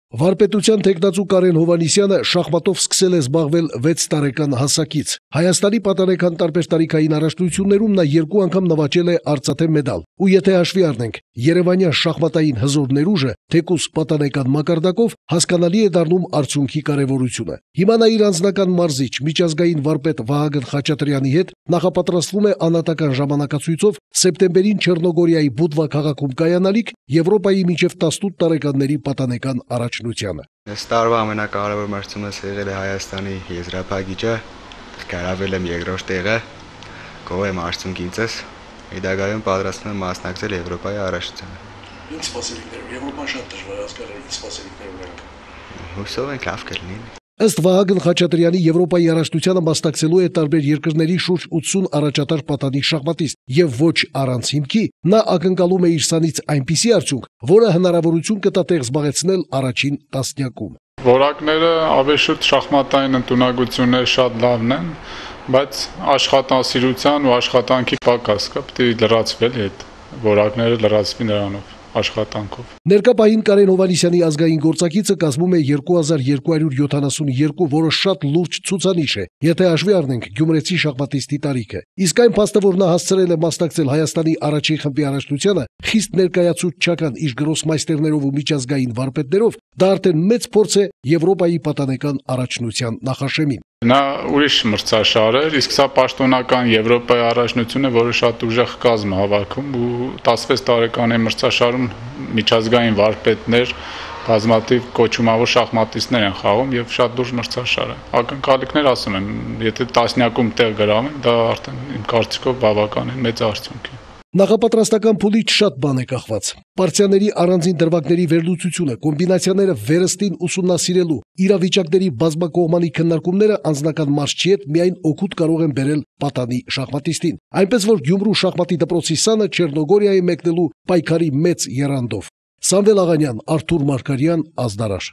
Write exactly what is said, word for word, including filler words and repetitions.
Վարպետության թեկնածու Կարեն Հովհաննիսյանը շախմատով սկսել է զբաղվել վեց տարեկան հասակից։ Հայաստանի պատանեկան տարբեր տարիքային առաջնություններում նա երկու անգամ նվաճել է արծաթե մեդալ։ Ու եթե հաշվի առնենք երևանյան շախմատային հզոր ներուժը, թեկուզ պատանեկան մակարդակով, հասկանալի է դառնում արդյունքի կարևորությունը։ Հիմա նա իր անձնական մարզիչ, միջազգային վարպետ Վահագն Խաչատրյանի հետ նախապատրաստվում է անհատական ժամանակացույցով սեպտեմբերին Չեռնոգորիայի Բուդվա քաղաքում կայանալիք Եվրոպայի մինչև տասնութ տարեկանների պատանեկան առաջնությանը։ Այս տարվա ամենակարևոր մրցումս եղել է Հայաստանի եզրափակիչը, գրավել եմ երկրորդ տեղը, գոհ եմ արդյունքից, հետագայում պատրաստվում եմ մասնակցել Եվրոպայի առաջնությանը։ Ինչ սպասելիքներ, Եվրոպան շատ դժվար հասկանալ, ինչ սպասելիքներ ունենք։ Հուսով ենք լավ կլինի։ Ըստ Վահագն Խաչատրյանի Եվրոպայի առաջնությանը մասնակցելու է տարբեր երկրների շուրջ ութսուն առաջատար պատանի շախմատիստ եւ ոչ առանց հիմքի նա ակնկալում է իր սանից այնպիսի արդյունք, որը հնարավորություն կտա տեղ զբաղեցնել առաջին տասնյակում։ Որակները ավեշուտ շախմատային ընտունակությունները շատ լավն են, բայց աշխատասիրության ու աշխատանքի պակաս կա, պետք է լրացվել այդ որակները լրացվի նրանով աշխատանքով։ Ներկա պահին Կարեն Հովհաննիսյանի ազգային գործակիցը կազմում է երկու հազար երկու հարյուր յոթանասունյոթ, որը շատ լուրջ ցուցանիշ է, եթե հաշվի առնենք գյումրեցի շախմատիստի տարիքը։ Իսկ այն փաստը, որ նա հասցրել է մասնակցել Հայաստանի առաջին խմբի առաջնությանը, խիստ ներկայացուցչական իր գրոսմայստերներով ու միջազգային վարպետներով, դա արդեն մեծ փորձ է Եվրոպայի պատանեկան առաջնության նախաշեմին։ Նա ուրիշ մրցաշար էր, իսկ սա պաշտոնական Եվրոպայի առաջնությունը, որը շատ ուժեղ կազմ հավաքում ու տասնվեց տարեկանի մրցաշարում միջազգային վարպետներ, բազմաթիվ կոչումավոր շախմատիստներ են խաղում եւ շատ լուրջ մրցաշար է։ Ակնկալիքներ ասում եմ, եթե տասնյակում տեղ գրավեն, դա արդեն իմ կարծիքով բավականին մեծ արդյունք է։ Նախապատրաստական փուլից շատ բան է կախված։ Պարտիաների առանձին դրվագների վերլուծությունը, կոմբինացիաները վերստին ուսումնասիրելու, իրավիճակների բազմակողմանի քննարկումները անձնական մարզչի հետ միայն օգուտ կարող են բերել պատանի շախմատիստին։ Այնպես որ Գյումրու շախմատի դպրոցի սանը Չեռնոգորիայի մեկնելու պայքարի մեծ եռանդով։ Սամվել Աղանյան, Արթուր Մարգարյան, Ազդարար։